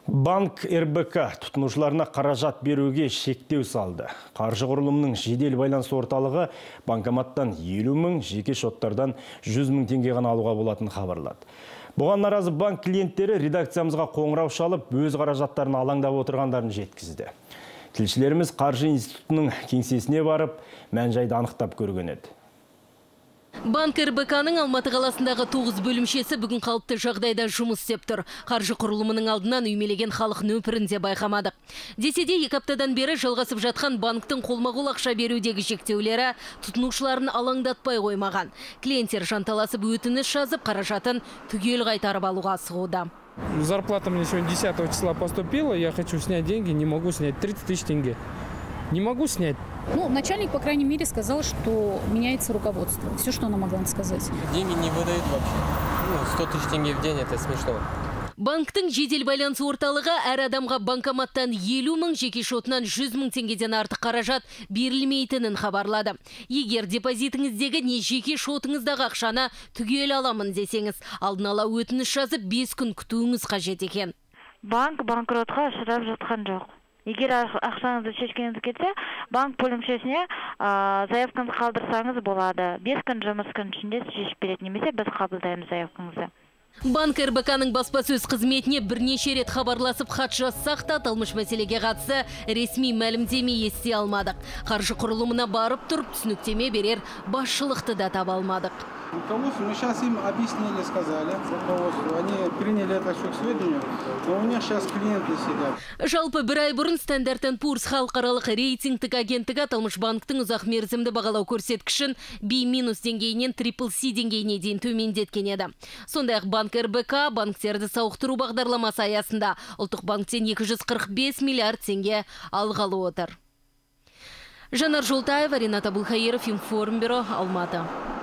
Банк РБК тұтынушыларына қаражат беруге шектеу салды. Қаржы құрылымының жедел байланыс орталығы банкоматтан 50 мың, жеке шоттардан 100 мың теңге ғана алуға болатын хабарлады. Бұған наразы банк клиенттері редакциямызға қоңырау шалып, өз қаражаттарын алаңдап отырғандарын жеткізді. Тілшілеріміз қаржы институтының кеңсесіне барып, мән-жайды анықтап көрген еді. Банк РБК-ның Алматы қаласындағы 9 бөлімшесі бүгін қалыпты жағдайда жұмыс істеп тұр. Қаржы құрылымының алдынан үймелеген халық нөпірінде байқамадық. Десе де 2 аптадан бері жалғасып жатқан банктың қолма-қол ақша берудегі шектеулері тұтынушыларын алаңдатпай қоймаған. Клиенттер жанталасып өтініш жазып, қаражатын түгел қайтарып алуға асығуда. Зарплата мне сегодня 10 числа поступила, я хочу снять деньги, не могу снять 30 тысяч тенге. Не могу снять. Начальник, по крайней мере, сказал, что меняется руководство. Все, что она могла сказать. Деньги не выдают вообще. 100 тысяч тенге в день, это смешно. Банктың жедел байланыс орталығы әр адамға банкоматтан 50 мың, жеке шотынан 100 мың теңгеден артық қаражат берілмейтінін хабарлады. Егер депозитіңіздегі не жеке шотыңыздағы ақшаны түгел аламын десеңіз, алдын ала өтініш жазып 5 күн күтуіңіз қажет екен. Банк банкротқа ұшырап жатқан жоқ. Егер ақшаңызды шешкеніңіз кетсе, банк бөлімшесіне заявкаңызды қалдырсаңыз болады. 5 күн жұмыс күн ішінде шешіп береді, немесе біз қабылдаймыз заявкаңызды. Банк РБК-ның баспасөз қызметіне бірнеше рет хабарласып хат жазсақ та, аталмыш мәселеге қатысты ресми мәлімдеме ести алмадық. Қаржы құрылымына барып тұрып түсініктеме берер басшылықты да таба алмадық. Руководству мы сейчас им объяснили, сказали, руководству, они приняли это все к сведению, но у них сейчас клиенты сидят. Жалпы бір ай бұрын Standard & Poor's халықаралық рейтингтік агенттігі аталмыш банктың ұзақ мерзімді бағалау көрсеткішін B- деңгейінен CCC деңгейіне дейін төмендеткен еді. Сондай-ақ банк РБК банктерді сауықтыру бағдарламасы аясында ұлттық банктен 245 миллиард теңге алғалы отыр. Жанар Жолтаева, Ринат Абылхаиров, Информбюро, Алматы.